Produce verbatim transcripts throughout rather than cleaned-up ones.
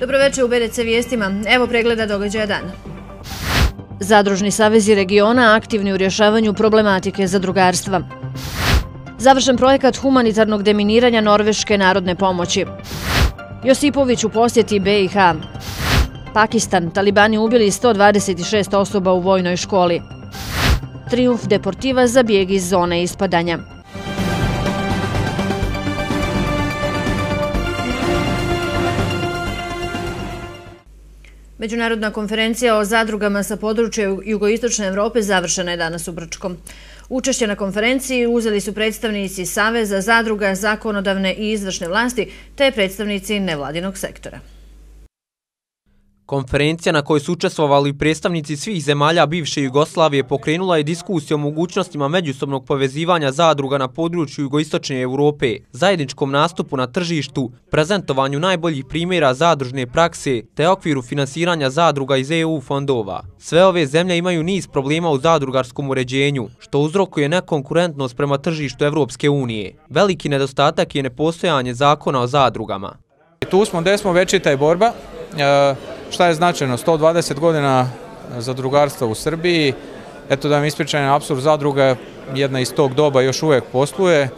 Dobroveče u B D C vijestima. Evo pregleda događaja dana. Zadružni savezi regiona aktivni u rješavanju problematike zadrugarstva. Završen projekat humanitarnog deminiranja Norveške narodne pomoći. Josipović u posjeti B i H. Pakistan, talibani ubili sto dvadeset šest osoba u vojnoj školi. Trijumf Deportiva za bijeg iz zone ispadanja. Međunarodna konferencija o zadrugama sa područja jugoistočne Evrope završena je danas u Brčkom. Učešće na konferenciji uzeli su predstavnici Saveza zadruga, zakonodavne i izvršne vlasti te predstavnici nevladinog sektora. Konferencija na kojoj su učestvovali predstavnici svih zemalja bivše Jugoslavije pokrenula je diskusiju o mogućnostima međusobnog povezivanja zadruga na području jugoistočne Evrope, zajedničkom nastupu na tržištu, prezentovanju najboljih primjera zadružne prakse te okviru finansiranja zadruga iz E U fondova. Sve ove zemlje imaju niz problema u zadrugarskom uređenju, što uzrokuje nekonkurentnost prema tržištu Evropske unije. Veliki nedostatak je nepostojanje zakona o zadrugama. Tu smo gdje smo večita i borba. Šta je značajno? sto dvadeset godina zadrugarstva u Srbiji. Eto da vam ispričam apsurd, zadruga jedna iz tog doba još uvijek posluje.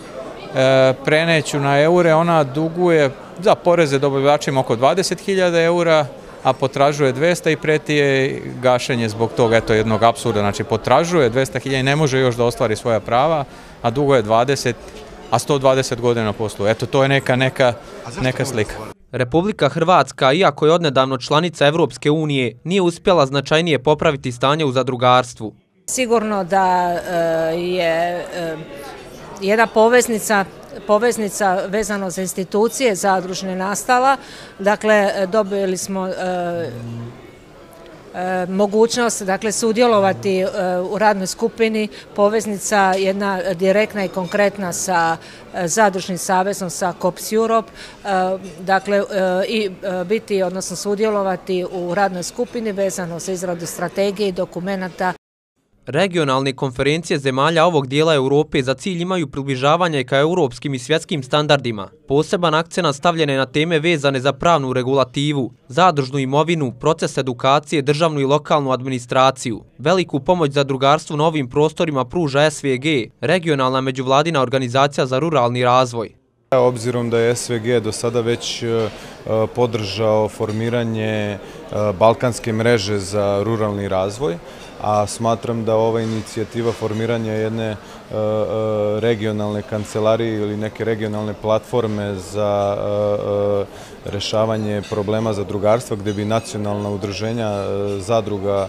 Preneću na eure, ona duguje za poreze dobavljačima oko dvadeset hiljada eura, a potražuje dvesta i preti je gašenje zbog toga, eto jednog apsurda. Znači potražuje dvesta hiljada i ne može još da ostvari svoja prava, a duguje dvadeset, a sto dvadeset godina posluje. Eto to je neka, neka, neka slika. Republika Hrvatska, iako je odnedavno članica Evropske unije, nije uspjela značajnije popraviti stanje u zadrugarstvu. Sigurno da je jedna poveznica, poveznica vezano za institucije zadružne nastala. Dakle, dobili smo mogućnost dakle, sudjelovati u radnoj skupini, poveznica jedna direktna i konkretna sa Zadružnim savezom, sa Cops Europe, dakle i biti, odnosno sudjelovati u radnoj skupini vezano za izradu strategije i dokumenata. Regionalne konferencije zemalja ovog dijela Europe za cilj imaju približavanje ka europskim i svjetskim standardima. Poseban akcenat stavljen je na teme vezane za pravnu regulativu, zadružnu imovinu, proces edukacije, državnu i lokalnu administraciju. Veliku pomoć zadrugarstvu na ovim prostorima pruža S V G, regionalna međuvladina organizacija za ruralni razvoj. Obzirom da je S V G do sada već podržao formiranje balkanske mreže za ruralni razvoj, a smatram da ova inicijativa formiranja jedne regionalne kancelarije ili neke regionalne platforme za rešavanje problema zadrugarstva gdje bi nacionalna udruženja zadruga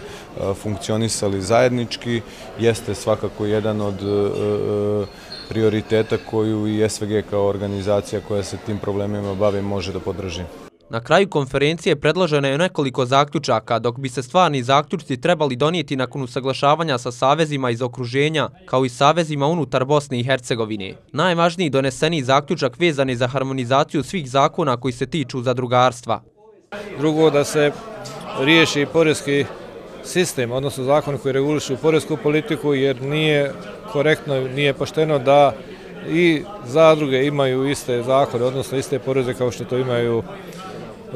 funkcionisali zajednički, jeste svakako jedan od prioriteta koju i S V G kao organizacija koja se tim problemima bavi može da podrži. Na kraju konferencije predloženo je nekoliko zaključaka, dok bi se stvarni zaključci trebali donijeti nakon usaglašavanja sa savezima iz okruženja, kao i savezima unutar Bosne i Hercegovine. Najvažniji doneseni zaključak vezan je za harmonizaciju svih zakona koji se tiču zadrugarstva. Drugo, da se riješi porezki sistem, odnosno zakon koji regulišu porezku politiku, jer nije korektno, nije pošteno da i zadruge imaju iste zakone, odnosno iste poreze kao što to imaju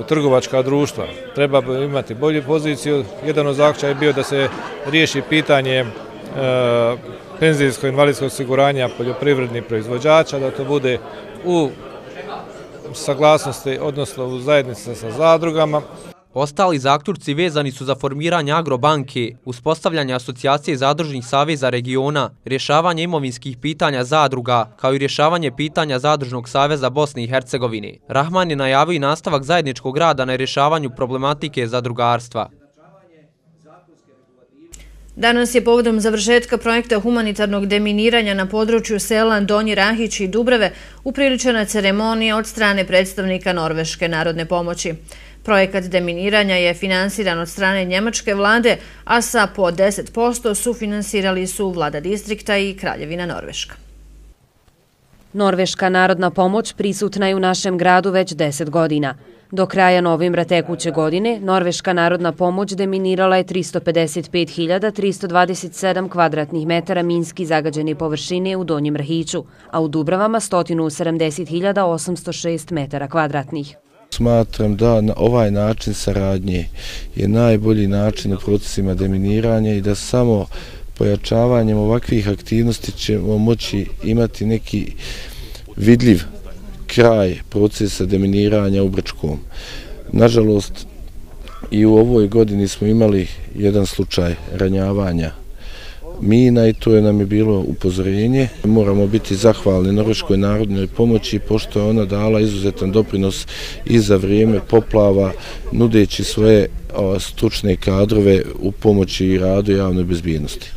trgovačka društva. Treba imati bolju poziciju. Jedan od zaključaka je bio da se riješi pitanje e, penzijsko-invalidskog osiguranja poljoprivrednih proizvođača, da to bude u saglasnosti, odnosno u zajednici sa zadrugama. Ostali zaključci vezani su za formiranje agrobanke, uspostavljanje asocijacije zadružnih saveza regiona, rješavanje imovinskih pitanja zadruga, kao i rješavanje pitanja Zadružnog saveza Bosne i Hercegovine. Rahman je najavio i nastavak zajedničkog rada na rješavanju problematike zadrugarstva. Danas je povodom završetka projekta humanitarnog deminiranja na području sela Donji Rahić i Dubrave upriličena ceremonija od strane predstavnika Norveške narodne pomoći. Projekat deminiranja je finansiran od strane njemačke vlade, a sa po deset posto sufinansirali su vlada distrikta i Kraljevina Norveška. Norveška narodna pomoć prisutna je u našem gradu već deset godina. Do kraja novembra tekuće godine Norveška narodna pomoć deminirala je tristo pedeset pet hiljada tristo dvadeset sedam kvadratnih metara minski zagađene površine u Donjem Rahiću, a u Dubravama sto sedamdeset hiljada osamsto šest metara kvadratnih. Smatram da na ovaj način saradnje je najbolji način u procesima deminiranja i da samo pojačavanjem ovakvih aktivnosti ćemo moći imati neki vidljiv kraj procesa deminiranja u Brčkom. Nažalost, i u ovoj godini smo imali jedan slučaj ranjavanja mina i to je nam je bilo upozorenje. Moramo biti zahvalni Norveškoj narodnoj pomoći pošto je ona dala izuzetan doprinos i za vrijeme poplava nudeći svoje stručne kadrove u pomoći i radu javnoj bezbjednosti.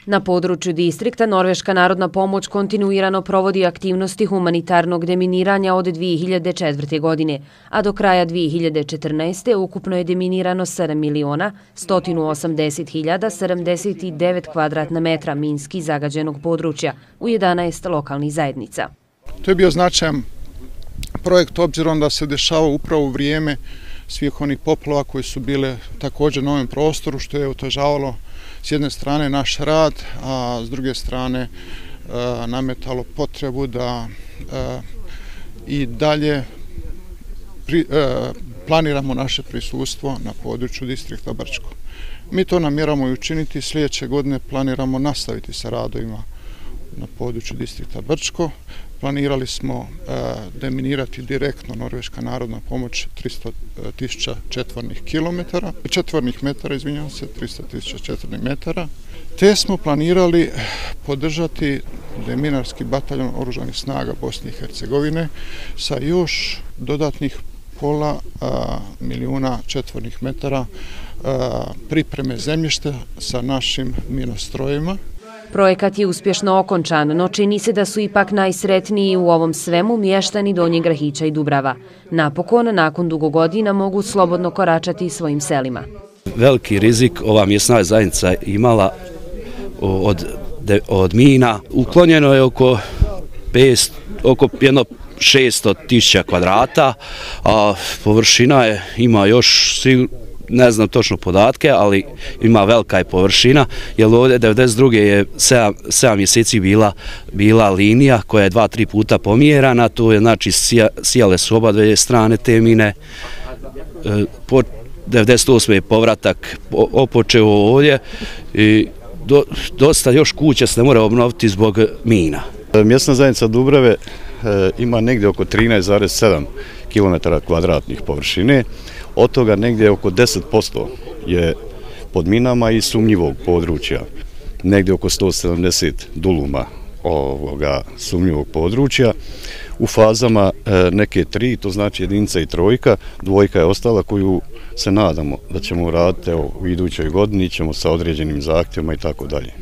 Na području distrikta Norveška narodna pomoć kontinuirano provodi aktivnosti humanitarnog deminiranja od dvije hiljade četvrte. godine, a do kraja dvije hiljade četrnaeste. ukupno je deminirano sedam miliona sto osamdeset hiljada sedamdeset devet kvadratna metra minski zagađenog područja u jedanaest lokalnih zajednica. To je bio značajan projekt obzirom da se dešava upravo u vrijeme svih onih poplava koji su bile također na ovom prostoru, što je otežavalo s jedne strane naš rad, a s druge strane e, nametalo potrebu da e, i dalje pri, e, planiramo naše prisustvo na području distrikta Brčko. Mi to namjeramo i učiniti, sljedeće godine planiramo nastaviti sa radovima na području distrikta Brčko. Planirali smo e, deminirati direktno Norveška narodna pomoć tristo tisuća četvornih kilometara, četvornih metara, izvinjavam se, tristo tisuća četvornih metara, te smo planirali podržati deminarski bataljon oružanih snaga Bosne i Hercegovine sa još dodatnih pola a, milijuna četvornih metara a, pripreme zemljišta sa našim minostrojima. Projekat je uspješno okončan, no čini se da su ipak najsretniji u ovom svemu mještani Donjeg Grahića i Dubrava. Napokon, nakon dugo godina, mogu slobodno koračati svojim selima. Veliki rizik ova mjesna zajednica imala od, od mina. Uklonjeno je oko, pet, oko jedno šesto tisuća kvadrata, a površina je, ima još ne znam točno podatke, ali ima velika je površina, jer ovdje devedeset druge je sedam mjeseci bila, bila linija koja je dva, tri puta pomjerana, to je znači sija, sijale su oba dvije strane te mine. Po devedeset osme je povratak opočeo ovdje i do, dosta još kuća se ne mora obnoviti zbog mina. Mjesna zajednica Dubrave e, ima negdje oko trinaest zarez sedam kilometara kvadratnih površine. Od toga negdje oko deset posto je pod minama i sumnjivog područja. Negdje oko sto sedamdeset duluma ovoga sumnjivog područja. U fazama e, neke tri, to znači jedinica i trojka, dvojka je ostala koju se nadamo da ćemo raditi u idućoj godini, ćemo sa određenim zahtjevima i tako dalje.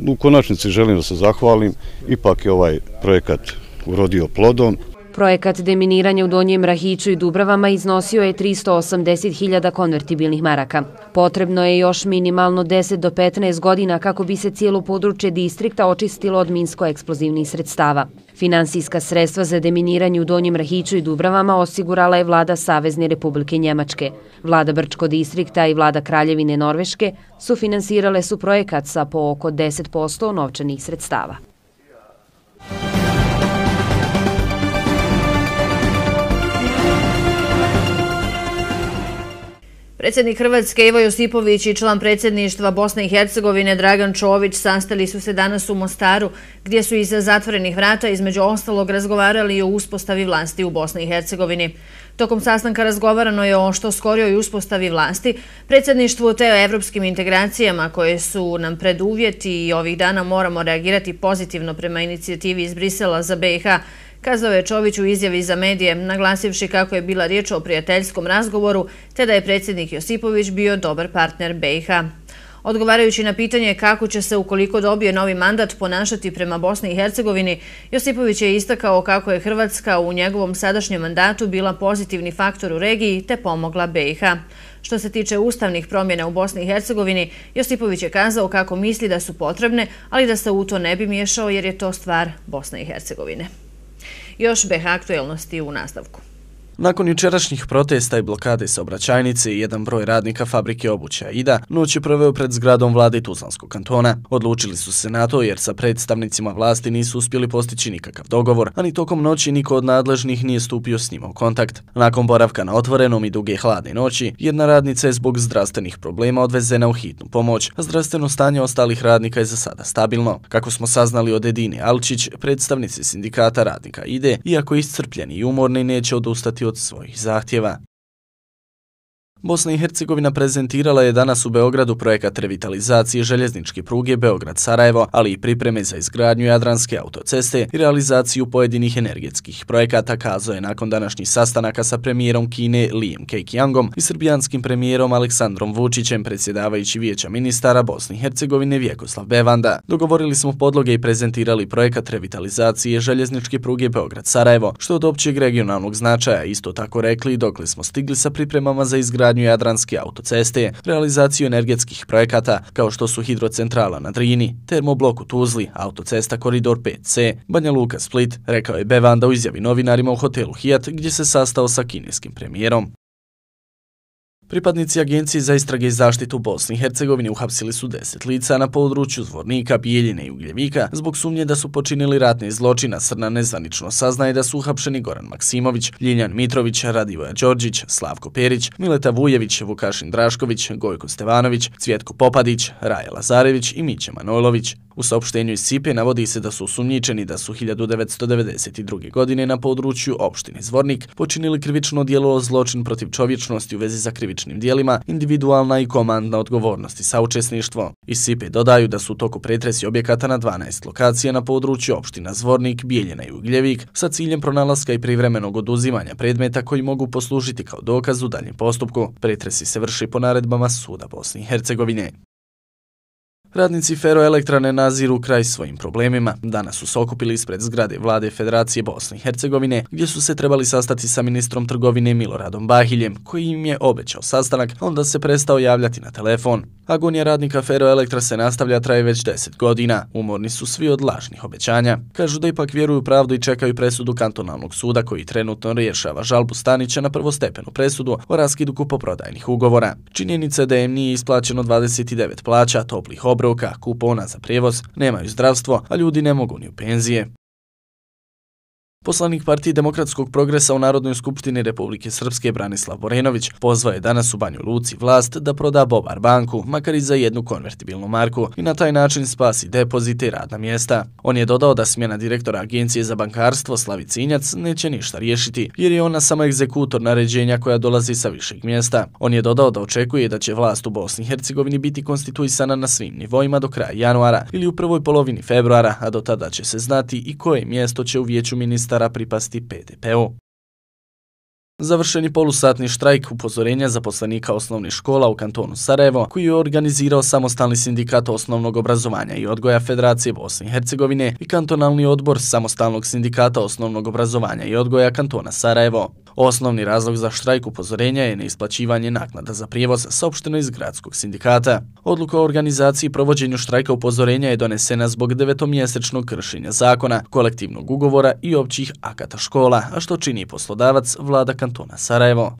U konačnici želim da se zahvalim, ipak je ovaj projekat urodio plodom. Projekat deminiranja u Donjem Rahiću i Dubravama iznosio je tristo osamdeset hiljada konvertibilnih maraka. Potrebno je još minimalno deset do petnaest godina kako bi se cijelo područje distrikta očistilo od minsko-eksplozivnih sredstava. Finansijska sredstva za deminiranje u Donjem Rahiću i Dubravama osigurala je vlada Savezne Republike Njemačke. Vlada Brčko distrikta i vlada Kraljevine Norveške sufinansirale su projekat sa po oko deset posto novčanih sredstava. Predsjednik Hrvatske Ivo Josipović i član predsjedništva Bosne i Hercegovine Dragan Čović sastali su se danas u Mostaru, gdje su iza zatvorenih vrata između ostalog razgovarali o uspostavi vlasti u Bosni i Hercegovini. Tokom sastanka razgovarano je o što skorijoj uspostavi vlasti, predsjedništvu te o evropskim integracijama koje su nam preduvjeti i ovih dana moramo reagirati pozitivno prema inicijativi iz Brisela za B i H, kazao je Čović u izjavi za medije, naglasivši kako je bila riječ o prijateljskom razgovoru, te da je predsjednik Josipović bio dobar partner B i H. Odgovarajući na pitanje kako će se, ukoliko dobije novi mandat, ponašati prema Bosni i Hercegovini, Josipović je istakao kako je Hrvatska u njegovom sadašnjem mandatu bila pozitivni faktor u regiji te pomogla B i H. Što se tiče ustavnih promjena u Bosni i Hercegovini, Josipović je kazao kako misli da su potrebne, ali da se u to ne bi miješao jer je to stvar Bosne i Hercegovine. Još B i H aktuelnosti u nastavku. Nakon jučerašnjih protesta i blokade saobraćajnice, jedan broj radnika fabrike obuće Aida noć je proveo pred zgradom vlade Tuzlanskog kantona. Odlučili su se na to jer sa predstavnicima vlasti nisu uspjeli postići nikakav dogovor, a ni tokom noći niko od nadležnih nije stupio s njima u kontakt. Nakon boravka na otvorenom i duge hladne noći, jedna radnica je zbog zdravstvenih problema odvezena u hitnu pomoć, a zdravstveno stanje ostalih radnika je za sada stabilno. Kako smo saznali od Edine Alčić, predstavnici sindikata radnika Aide, iako iscrpljeni i umorni, neće odustati od svojih zahtjeva. Bosna i Hercegovina prezentirala je danas u Beogradu projekat revitalizacije željezničke pruge Beograd-Sarajevo, ali i pripreme za izgradnju Jadranske autoceste i realizaciju pojedinih energetskih projekata, kazao je nakon današnjih sastanaka sa premijerom Kine Lijem Kekjangom i srbijanskim premijerom Aleksandrom Vučićem, predsjedavajući Vijeća ministara Bosne i Hercegovine Vjekoslav Bevanda. Dogovorili smo podloge i prezentirali projekat revitalizacije željezničke pruge Beograd-Sarajevo, što je od općeg regionalnog značaja. Isto tako rekli dokle smo stigli sa pripremama za izgradnju Jadranske autoceste, realizaciju energetskih projekata kao što su hidrocentrala na Drini, termoblok u Tuzli, autocesta Koridor pet ce, Banja Luka Split, rekao je Bevanda u izjavi novinarima u hotelu Hijat gdje se sastao sa kineskim premijerom. Pripadnici Agencije za istrage i zaštitu Bosne i Hercegovine uhapsili su deset lica na području Zvornika, Bijeljine i Ugljevika zbog sumnje da su počinili ratne zločina. Srna nezvanično saznaje da su uhapšeni Goran Maksimović, Ljiljan Mitrović, Radivoja Đorđić, Slavko Perić, Mileta Vujević, Vukašin Drašković, Gojko Stevanović, Cvjetko Popadić, Raja Lazarević i Miće Manojlović. U saopštenju iz Sipe navodi se da su osumnjičeni da su hiljadu devetsto devedeset druge. godine na području opštine Zvornik počinili krivično djelo zločin protiv čovječnosti u vezi za krivičnim djelima, individualna i komandna odgovornost i saučesništvo. Iz Sipe dodaju da su u toku pretresi objekata na dvanaest lokacija na području opština Zvornik, Bijeljina i Ugljevik sa ciljem pronalaska i privremenog oduzimanja predmeta koji mogu poslužiti kao dokaz u daljem postupku. Pretresi se vrši po naredbama Suda Bosne i Hercegovine. Radnici Feroelektrane naziru kraj svojim problemima. Danas su se okupili ispred zgrade vlade Federacije Bosne i Hercegovine, gdje su se trebali sastati sa ministrom trgovine Miloradom Bahiljem, koji im je obećao sastanak, a onda se prestao javljati na telefon. Agonija radnika Feroelektra se nastavlja, traje već deset godina. Umorni su svi od lažnih obećanja. Kažu da ipak vjeruju pravdu i čekaju presudu kantonalnog suda koji trenutno rješava žalbu Stanića na prvostepenu presudu o raskidu kupoprodajnih ugovora. Činjenica je da im nije isplaćeno dvadeset devet plaća, toplih obroka, kupona za prijevoz, nemaju zdravstvo, a ljudi ne mogu ni u penzije. Poslanik Partije demokratskog progresa u Narodnoj skupštini Republike Srpske Branislav Borenović pozvao je danas u Banju Luci vlast da proda Bobar banku, makar i za jednu konvertibilnu marku, i na taj način spasi depozite i radna mjesta. On je dodao da smjena direktora Agencije za bankarstvo Slavice Injac neće ništa riješiti, jer je ona samo egzekutor naređenja koja dolazi sa višeg mjesta. On je dodao da očekuje da će vlast u Bosni i Hercegovini biti konstituisana na svim nivoima do kraja januara ili u prvoj polovini februara, a do tada će se znati i koje mjesto će u vijeću ministara pripasti P D P-u. Završeni polusatni štrajk upozorenja zaposlenika osnovnih škola u kantonu Sarajevo, koji je organizirao Samostalni sindikat osnovnog obrazovanja i odgoja Federacije Bosne i Hercegovine i kantonalni odbor Samostalnog sindikata osnovnog obrazovanja i odgoja kantona Sarajevo. Osnovni razlog za štrajk upozorenja je neisplaćivanje naknada za prijevoz, saopšteno iz gradskog sindikata. Odluka o organizaciji i provođenju štrajka upozorenja je donesena zbog devetomjesečnog kršenja zakona, kolektivnog ugovora i općih akata škola, a što čini poslodavac vlada kantona Sarajevo.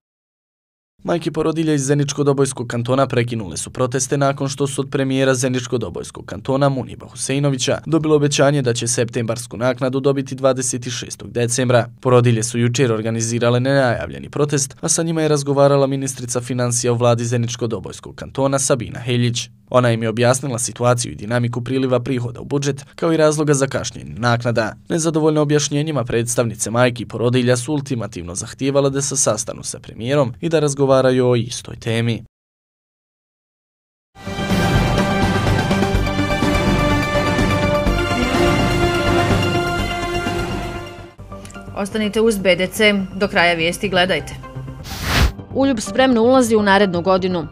Majke porodilja iz Zeničko-Dobojskog kantona prekinule su proteste nakon što su od premijera Zeničko-Dobojskog kantona Muniba Huseinovića dobilo obećanje da će septembarsku naknadu dobiti dvadeset šestog decembra. Porodilje su jučer organizirale nenajavljeni protest, a sa njima je razgovarala ministrica financija u vladi Zeničko-Dobojskog kantona Sabina Heljić. Ona im je objasnila situaciju i dinamiku priliva prihoda u budžet, kao i razloga za kašnjenje naknada. Nezadovoljno objašnjenjima predstavnice majki i porodilja su ultimativno zahtijevale da se sastanu sa premijerom i da razgovaraju o istoj temi. Ostanite uz B D C, do kraja vijesti gledajte. Uljub spremno ulazi u narednu godinu.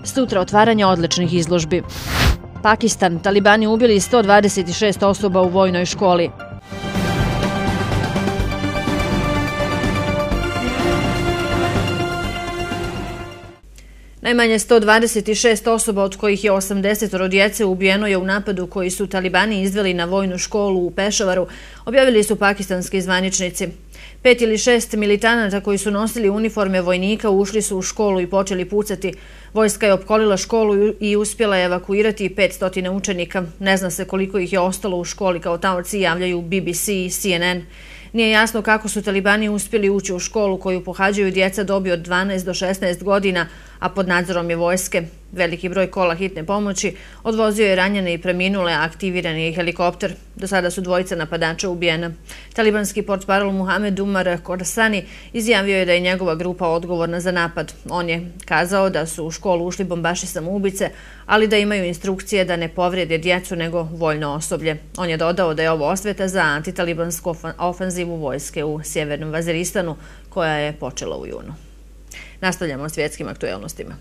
Sutra otvaranje odličnih izložbi. Pakistan, talibani ubili sto dvadeset šest osoba u vojnoj školi. Najmanje sto dvadeset šest osoba, od kojih je osamdeset djece, ubijeno je u napadu koji su talibani izveli na vojnu školu u Pešavaru, objavili su pakistanski zvaničnici. Pet ili šest militanata koji su nosili uniforme vojnika ušli su u školu i počeli pucati. Vojska je opkolila školu i uspjela je evakuirati petsto učenika. Ne zna se koliko ih je ostalo u školi, kao taoci javljaju B B C i C N N. Nije jasno kako su talibani uspjeli ući u školu koju pohađaju djeca dobi od dvanaest do šesnaest godina, a pod nadzorom je vojske. Veliki broj kola hitne pomoći odvozio je ranjene i preminule, a aktiviran je i helikopter. Do sada su dvojica napadača ubijena. Talibanski portparol Muhamed Umar Khorsani izjavio je da je njegova grupa odgovorna za napad. On je kazao da su u školu ušli bombaši samoubice, ali da imaju instrukcije da ne povrijede djecu nego vojno osoblje. On je dodao da je ovo osveta za antitalibansku ofanzivu vojske u sjevernom Vaziristanu, koja je počela u junu. Nastavljamo s svjetskim aktuelnostima.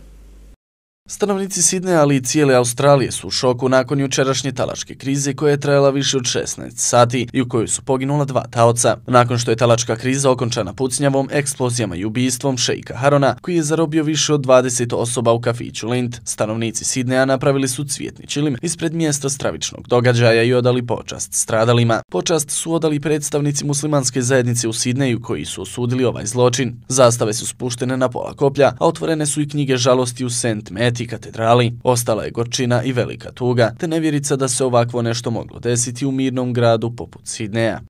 Stanovnici Sidneja, ali i cijele Australije su u šoku nakon jučerašnje talačke krize koja je trajala više od šesnaest sati i u kojoj su poginula dva taoca. Nakon što je talačka kriza okončana pucnjavom, eksplozijama i ubijstvom šeika Harona, koji je zarobio više od dvadeset osoba u kafiću Lind, stanovnici Sidneja napravili su cvjetni čilim ispred mjesta stravičnog događaja i odali počast stradalima. Počast su odali predstavnici muslimanske zajednice u Sidneju koji su osudili ovaj zločin. Zastave su spuštene na pola koplja, a otvorene su i knjige žalosti u Saint Matt i katedrali. Ostala je gorčina i velika tuga, te nevjerica da se ovakvo nešto moglo desiti u mirnom gradu poput Sidneja.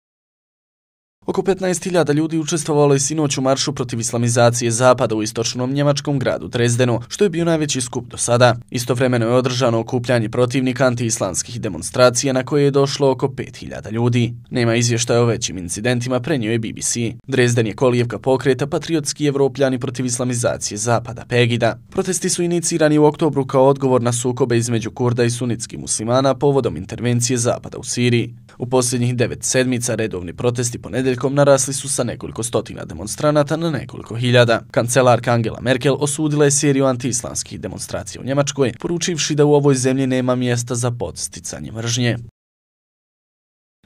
Oko petnaest hiljada ljudi učestvovalo je sinoć u maršu protiv islamizacije Zapada u istočnom njemačkom gradu Dresdenu, što je bio najveći skup do sada. Istovremeno je održano okupljanje protivnika antiislamskih demonstracija na koje je došlo oko pet hiljada ljudi. Nema izvještaja o većim incidentima, prenio je B B C. Dresden je kolijevka pokreta Patriotski Evropljani protiv islamizacije Zapada, Pegida. Protesti su inicirani u oktobru kao odgovor na sukobe između Kurda i sunitskih muslimana povodom intervencije Zapada u Siriji. U posljednjih devet sedmica redovni protesti ponedeljkom narasli su sa nekoliko stotina demonstranata na nekoliko hiljada. Kancelarka Angela Merkel osudila je seriju antiislamskih demonstracija u Njemačkoj, poručivši da u ovoj zemlji nema mjesta za podsticanje mržnje.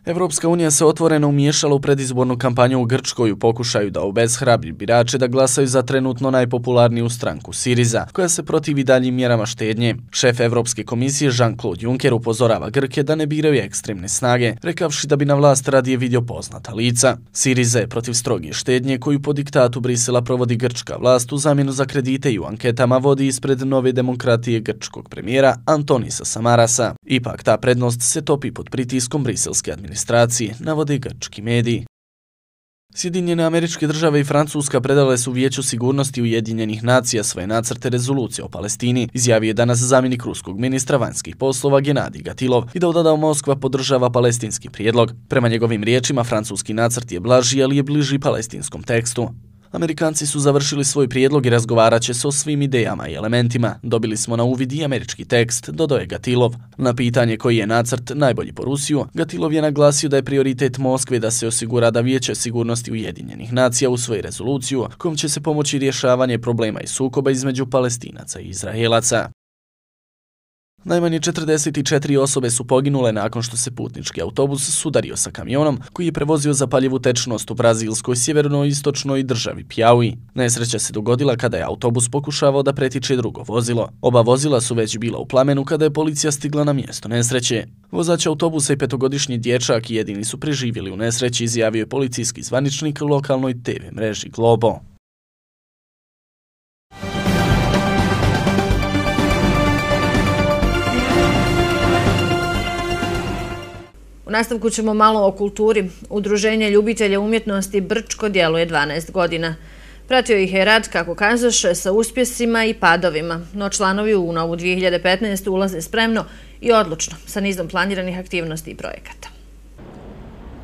Evropska unija se otvoreno umiješala u predizbornu kampanju u Grčkoj u pokušaju da obeshrabri birače da glasaju za trenutno najpopularniju stranku Siriza, koja se protivi daljim mjerama štednje. Šef Evropske komisije Jean-Claude Juncker upozorava Grke da ne biraju ekstremne snage, rekavši da bi na vlast radije vidio poznata lica. Siriza je protiv stroge štednje koju po diktatu Brisela provodi grčka vlast u zamjenu za kredite i u anketama vodi ispred Nove demokratije grčkog premijera Antonisa Samarasa. Ipak ta prednost se topi pod pritiskom briselske administracije. administracije, navode grčki mediji. Sjedinjene Američke Države i Francuska predale su Vijeću sigurnosti Ujedinjenih nacija svoje nacrte rezolucije o Palestini, izjavio je danas zamjenik ruskog ministra vanjskih poslova Genadij Gatilov i dodao Moskva podržava palestinski prijedlog. Prema njegovim riječima, francuski nacrt je blaži, ali je bliži palestinskom tekstu. Amerikanci su završili svoj prijedlog i razgovarat će se o svim idejama i elementima. Dobili smo na uvid i američki tekst, dodao je Gatilov. Na pitanje koji je nacrt najbolji po Rusiju, Gatilov je naglasio da je prioritet Moskve da se osigura da Vijeće sigurnosti Ujedinjenih nacija usvoji rezoluciju kojom će se pomoći rješavanje problema i sukoba između Palestinaca i Izraelaca. Najmanje četrdeset četiri osobe su poginule nakon što se putnički autobus sudario sa kamionom koji je prevozio zapaljivu tečnost u brazilskoj sjeverno-istočnoj državi Piauí. Nesreća se dogodila kada je autobus pokušavao da pretiče drugo vozilo. Oba vozila su već bila u plamenu kada je policija stigla na mjesto nesreće. Vozač autobusa i petogodišnji dječak jedini su preživjeli u nesreći, izjavio je policijski zvaničnik lokalnoj te ve mreži Globo. U nastavku ćemo malo o kulturi. Udruženje ljubitelja umjetnosti Brčko djeluje dvanaest godina. Pratio ih je rad, kako kazaše, sa uspjesima i padovima, no članovi u novu dvije hiljade petnaeste. ulaze spremno i odlučno sa nizom planiranih aktivnosti i projekata.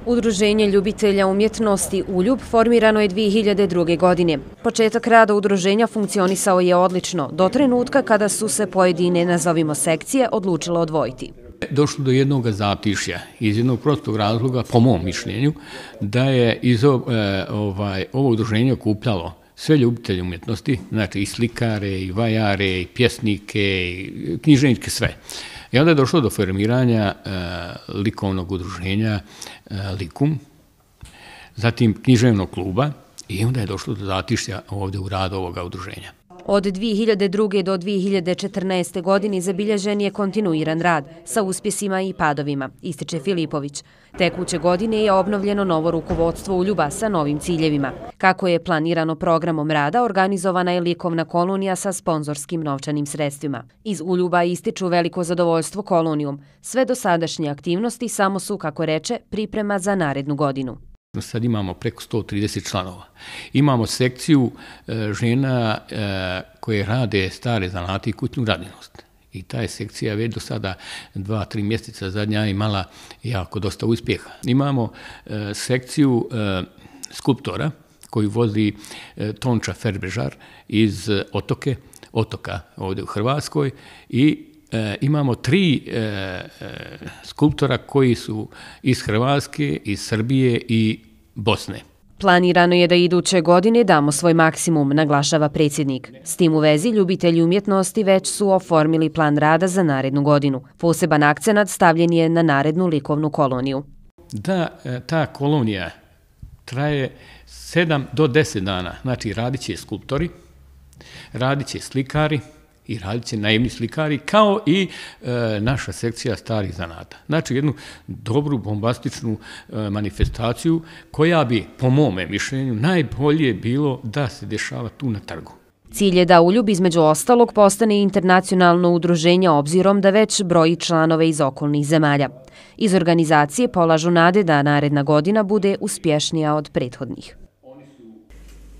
Udruženje ljubitelja umjetnosti Uljub formirano je dvije hiljade druge. godine. Početak rada udruženja funkcionisao je odlično, do trenutka kada su se pojedine, nazovimo sekcije, odlučile odvojiti. Došlo do jednog zatišja iz jednog prostog razloga, po mom mišljenju, da je iz ovaj, ovo udruženje okupljalo sve ljubitelje umjetnosti, znači i slikare, i vajare, i pjesnike, i književnike, sve. I onda je došlo do formiranja e, likovnog udruženja e, Likum, zatim književnog kluba i onda je došlo do zatišja ovdje u radu ovoga udruženja. Od dvije hiljade druge. do dvije hiljade četrnaeste. godine zabilježen je kontinuiran rad sa uspjesima i padovima, ističe Filipović. Tekuće godine je obnovljeno novo rukovodstvo Uljuba sa novim ciljevima. Kako je planirano programom rada, organizovana je likovna kolonija sa sponzorskim novčanim sredstvima. Iz Uljuba ističu veliko zadovoljstvo kolonijom. Sve dosadašnje aktivnosti samo su, kako reče, priprema za narednu godinu. Sad imamo preko sto trideset članova. Imamo sekciju e, žena e, koje rade stare zanate i kućnu radinost. I ta je sekcija već do sada dva, tri mjeseca zadnja imala jako dosta uspjeha. Imamo e, sekciju e, skulptora koju vodi e, Tonča Ferbežar iz Otoke, Otoka ovdje u Hrvatskoj i E, imamo tri e, e, skulptora koji su iz Hrvatske, iz Srbije i Bosne. Planirano je da iduće godine damo svoj maksimum, naglašava predsjednik. S tim u vezi ljubitelji umjetnosti već su oformili plan rada za narednu godinu. Poseban akcenat stavljen je na narednu likovnu koloniju. Da, ta kolonija traje sedam do deset dana. Znači radit će skulptori, radit će slikari, i radit će naivni slikari, kao i e, naša sekcija starih zanata. Znači jednu dobru, bombastičnu e, manifestaciju koja bi, po mome mišljenju, najbolje bilo da se dešava tu na trgu. Cilj je da Uljub između ostalog postane internacionalno udruženje obzirom da već broji članove iz okolnih zemalja. Iz organizacije polažu nade da naredna godina bude uspješnija od prethodnih.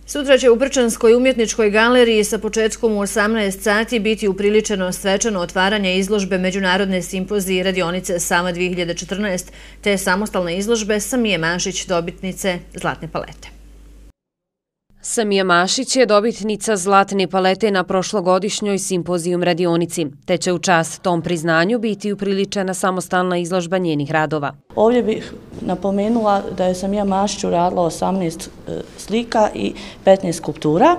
Sutra će u Brčanskoj umjetničkoj galeriji sa početkom u osamnaest sati biti upriličeno svečano otvaranje izložbe Međunarodne simpozije i radionice Sava dvije hiljade četrnaest te samostalne izložbe Samije Mašić, dobitnice Zlatne palete. Samija Mašić je dobitnica Zlatne palete na prošlogodišnjoj simpozijum radionici, te će u čast tom priznanju biti upriličena samostalna izložba njenih radova. Ovdje bih napomenula da je Samija Mašić uradila osamnaest slika i petnaest skulptura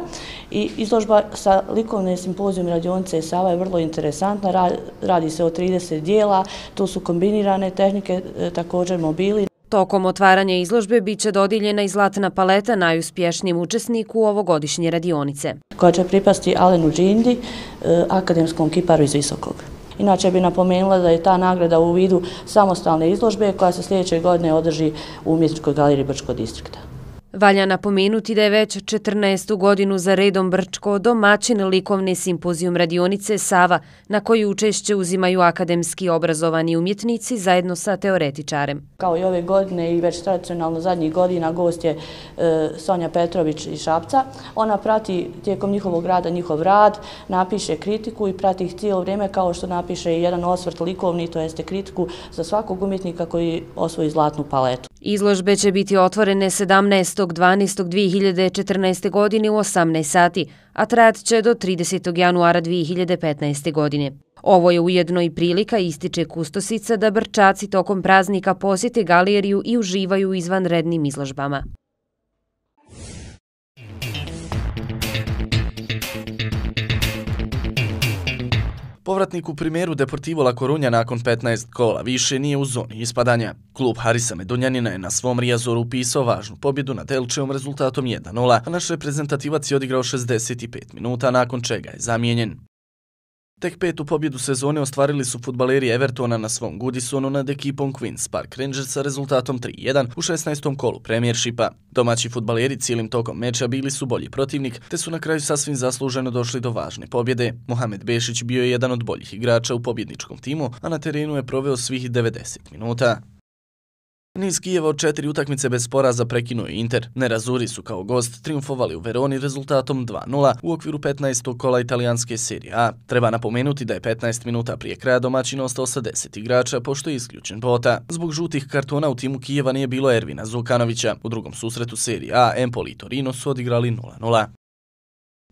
i izložba sa likovne simpozijum radionice Sava je vrlo interesantna, radi se o trideset dijela, tu su kombinirane tehnike, također mobili. Tokom otvaranja izložbe bit će dodijeljena i Zlatna paleta najuspješnijem učesniku ovogodišnje radionice, koja će pripasti Alenu Džindi, akademskom kiparu iz Visokog. Inače bi napomenula da je ta nagrada u vidu samostalne izložbe koja se sljedeće godine održi u Umjetničkoj galeriji Brčkog distrikta. Valja napomenuti da je već četrnaestu godinu za redom Brčko domaćin likovne simpozijum radionice Sava, na koju učešće uzimaju akademski obrazovani umjetnici zajedno sa teoretičarem. Kao i ove godine i već tradicionalno zadnjih godina gost je e, Sonja Petrović iz Šapca. Ona prati tijekom njihovog rada njihov rad, napiše kritiku i prati ih cijelo vrijeme kao što napiše i jedan osvrt likovni, to jeste kritiku za svakog umjetnika koji osvoji Zlatnu paletu. Izložbe će biti otvorene sedamnaestog dvanaestog dvije hiljade četrnaeste. godine u osamnaest sati, a trajat će do tridesetog januara dvije hiljade petnaeste. godine. Ovo je ujedno i prilika, ističe kustosica, da Brčaci tokom praznika posjete galeriju i uživaju u izvanrednim izložbama. Povratnik u primeru Deportivo La Coruña nakon petnaest kola više nije u zoni ispadanja. Klub Harisa Medunjanina je na svom Riazoru upisao važnu pobjedu nad Elčeom rezultatom jedan nula, a naš reprezentativac je odigrao šezdeset pet minuta, nakon čega je zamijenjen. Tek petu pobjedu sezone ostvarili su fudbaleri Evertona na svom Goodisonu nad ekipom Queen's Park Rangers sa rezultatom tri jedan u šesnaestom kolu Premiershipa. Domaći fudbaleri cijelim tokom meča bili su bolji protivnik, te su na kraju sasvim zasluženo došli do važne pobjede. Mohamed Bešić bio je jedan od boljih igrača u pobjedničkom timu, a na terenu je proveo svih devedeset minuta. Niz Kijeva od četiri utakmice bez poraza prekinuo Inter. Nerazuri su kao gost triumfovali u Veroni rezultatom dva nula u okviru petnaestog kola italijanske serije A. Treba napomenuti da je petnaest minuta prije kraja domaćin ostao sa deset igrača, pošto je isključen Bota. Zbog žutih kartona u timu Kijeva nije bilo Ervina Zukanovića. U drugom susretu serije A Empoli i Torino su odigrali nula nula.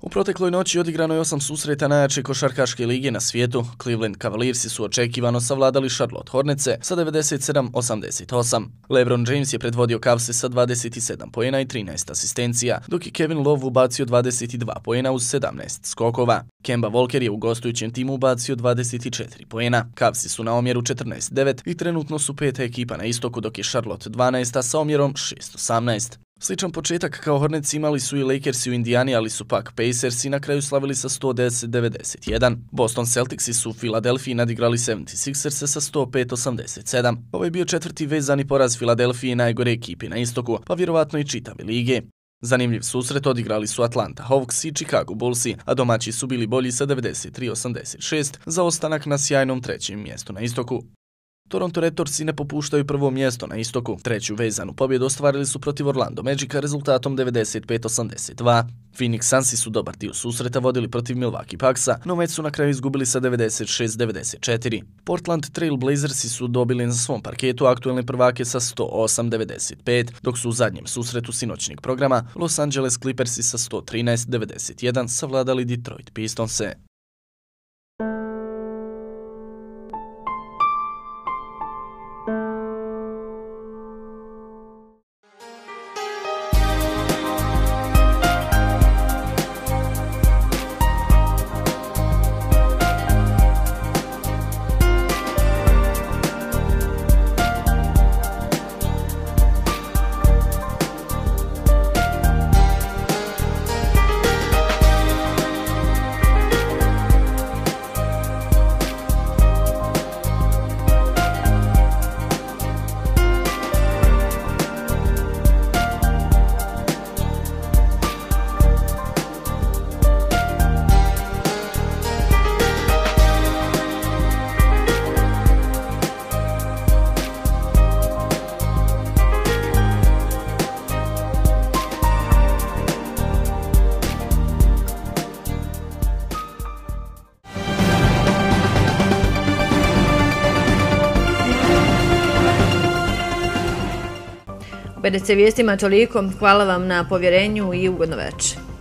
U protekloj noći odigrano je osam susreta najjače košarkaške lige na svijetu. Cleveland Cavaliersi su očekivano savladali Charlotte Hornetse sa devedeset sedam osamdeset osam. LeBron James je predvodio Cavse sa dvadeset sedam poena i trinaest asistencija, dok je Kevin Love ubacio dvadeset dva poena uz sedamnaest skokova. Kemba Walker je u gostujućem timu ubacio dvadeset četiri poena. Cavsi su na omjeru četrnaest devet i trenutno su peta ekipa na istoku, dok je Charlotte dvanaesta sa omjerom šest osamnaest. Sličan početak kao Hornets imali su i Lakersi u Indijani, ali su pak Pacersi na kraju slavili sa sto deset devedeset jedan. Boston Celticsi su u Filadelfiji nadigrali sedamdeset šesters sa sto pet osamdeset sedam. Ovo je bio četvrti vezani poraz Filadelfije najgore ekipi na istoku, pa vjerovatno i čitave lige. Zanimljiv susret odigrali su Atlanta Hawks i Chicago Bullsi, a domaći su bili bolji sa devedeset tri osamdeset šest za ostanak na sjajnom trećem mjestu na istoku. Toronto Raptorsi ne popuštaju prvo mjesto na istoku. Treću vezanu pobjedu ostvarili su protiv Orlando Magica rezultatom devedeset pet osamdeset dva. Phoenix Sunsi su dobar dio susreta vodili protiv Milwaukee Bucksa, no već su na kraju izgubili sa devedeset šest devedeset četiri. Portland Trail Blazersi su dobili na svom parketu aktuelne prvake sa sto osam devedeset pet, dok su u zadnjem susretu sinoćnjeg programa Los Angeles Clippersi sa sto trinaest devedeset jedan savladali Detroit Pistonse. B D C vijestima toliko. Hvala vam na povjerenju i ugodno večer.